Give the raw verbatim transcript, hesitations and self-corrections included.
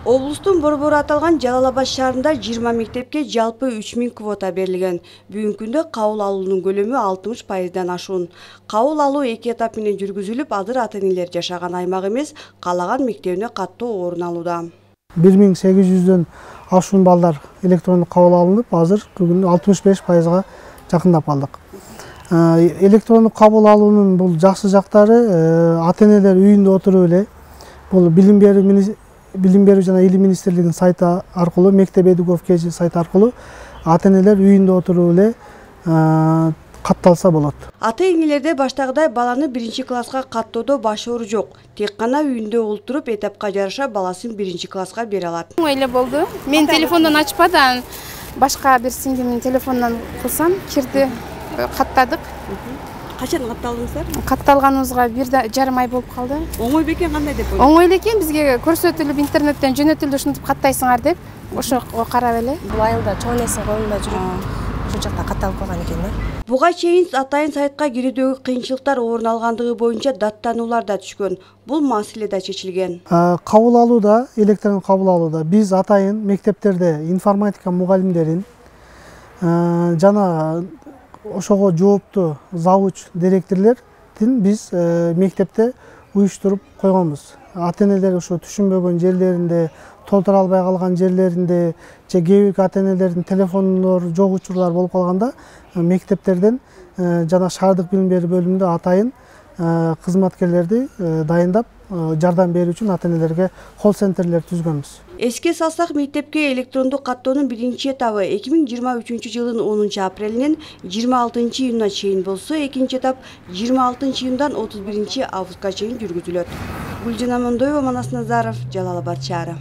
Облустун борбору аталган Жалал Абад шаарында жыйырма мектепке жалпы үч миң квота берилген. Бүгүнкү күндө кабыл алуунун көлөмү алтымыш пайыздан ашуун. Кабыл алуу эки этап менен жүргүзүлүп, азыр ата-энелер жашаган аймак эмес, каалаган мектебине каттоо орун алууда. бир миң сегиз жүздөн ашуун балдар электрондук кабыл алынып, азыр бүгүн алтымыш беш пайызга жакындап калдык. Электрондук кабыл алуунун бул жакшы жактары, ата-энелер үйүндө отуруп эле бул билим берүү Билим берүү жана илим министрлигинин сайты аркылуу, мектеп Эдуков кж сайты аркылуу ата-энелер үйүндө отуруп эле катталса болот. Ата-энелерде баштагыдай баланы биринчи класска каттоодо баш оору жок. Тек гана үйүндө олтуруп, этапка жараша баласын биринчи класска бере алат. Оңой эле болду. Мен телефондон ачпады, башка бир сиңдимдин телефонунан кылсам, кирди, каттадык. Качан катталдыңыздар? Катталганыбызга бир жарым ай болуп калды. Оңой бекен, кандай деп ойлойсуз? Оңой эле экен, бизге көрсөтүлүп интернеттен жөнөтүлдү, ушинтип каттайсыңар деп, ошого карап эле. Бул айылда чоң энесинин колунда жүрүп, ошол жакта катталып калган экен да. Буга чейин атайын сайтка кирүүдөгү кыйынчылыктар орун алгандыгы боюнча даттануулар да түшкөн. Бул маселе да чечилген. Кабыл алууда, электрондук кабыл алууда биз атайын мектептерде информатика мугалимдерин жана ошого жооптуу завуч директорлордун биз мектепте уюштуруп койгонбуз. Ата-энелер ошо түшүнбөгөн жерлеринде, толтура албай калган жерлеринде, же кээ бир ата-энелердин телефондору жок учурлар болуп калганда мектептерден жана шаардык билим берүү бөлүмүндө атайын кызматкерлерди дайындап жардам берүү үчүн ата-энелерге колл-центрлер түзгөнбүз. Эске салсак, мектепке электрондук каттоонун биринчи этабы эки миң жыйырма үчүнчү жылдын онунчу апрелинен жыйырма алтынчы июнуна чейин болсо, экинчи этап жыйырма алтынчы июндан отуз биринчи августка чейин жүргүзүлөт. Гүлжан Амандоева, Манас Назаров, Жалал Абад шаары.